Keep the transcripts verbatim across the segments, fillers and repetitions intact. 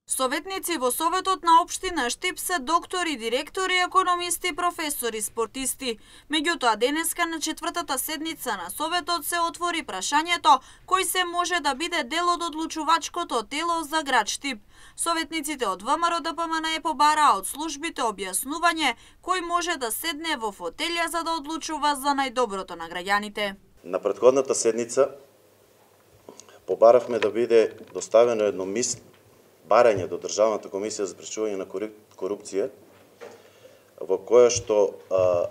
Советници во Советот на општина Штип се доктори, директори, економисти, професори, спортисти. Меѓутоа, денеска на четвртата седница на Советот се отвори прашањето кој се може да биде дел од одлучувачкото тело за град Штип. Советниците од ВМРО-ДПМНЕ побараа од службите објаснување кој може да седне во фотелја за да одлучува за најдоброто на граѓаните. На претходната седница побаравме да биде доставено едно мис барање до Државната комисија за спречување на корупција, во која што а,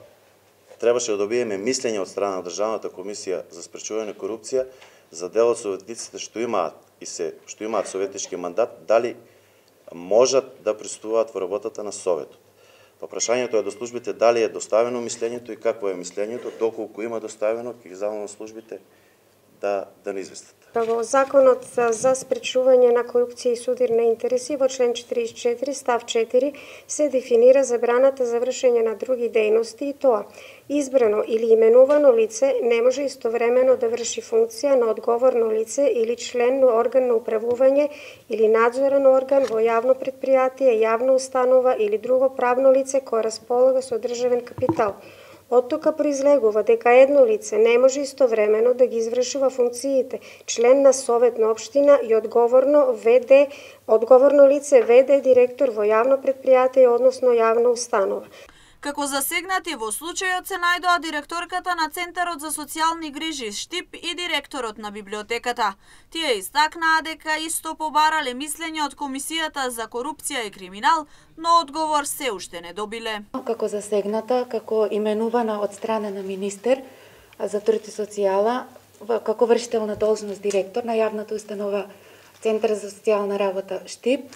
требаше да добиеме мислење од страна на Државната комисија за спречување на корупција за дел од советниците што имаат и се што имаат советнички мандат, дали можат да присуствуваат во работата на Советот. Па прашањето е до службите дали е доставено мислењето и какво е мислењето, доколку има доставено, ќе ги замолам службите да да не известат. Во Законот за спречување на корупција и судир на интереси во член четиридесет и четири став четири се дефинира забраната за вршење на други дејности и тоа: избрано или именувано лице не може истовремено да врши функција на одговорно лице или член на орган на управување или надзорен орган во јавно претпријатие, јавна установа или друго правно лице кое располага со државен капитал. Од тука произлегува дека едно лице не може истовремено да ги извршува функциите член на совет на општина и одговорно ВД, одговорно лице ВД директор во јавно претпријатие, односно јавна установа. Како засегнати во случајот се најдоа директорката на Центарот за социјални грижи Штип и директорот на библиотеката. Тие истакнаа дека исто побарале мислење од Комисијата за корупција и криминал, но одговор се уште не добиле. Како засегната, како именувана од страна на министер за труд и социјала, како вршител на должност директор на јавната установа Центар за социјална работа Штип,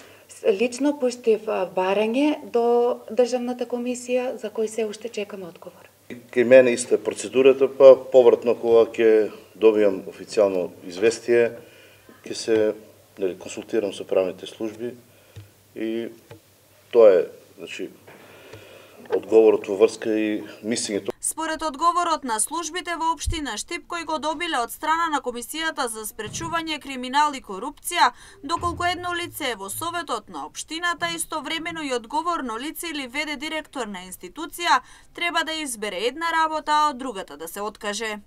лично пуштив барање до Државната комисија за кој се уште чекаме одговор. Кај мене иста е процедурата, па повратно кога ќе добијам официјално известие, ќе се нели, консултирам со правните служби и тоа е, значи, одговорот во врска и мислењето. Според одговорот на службите во општина Штип кој го добиле од страна на Комисијата за спречување криминал и корупција, доколку едно лице е во советот на општината, истовремено и одговорно лице или ВД директор на институција, треба да избере една работа, а од другата да се откаже.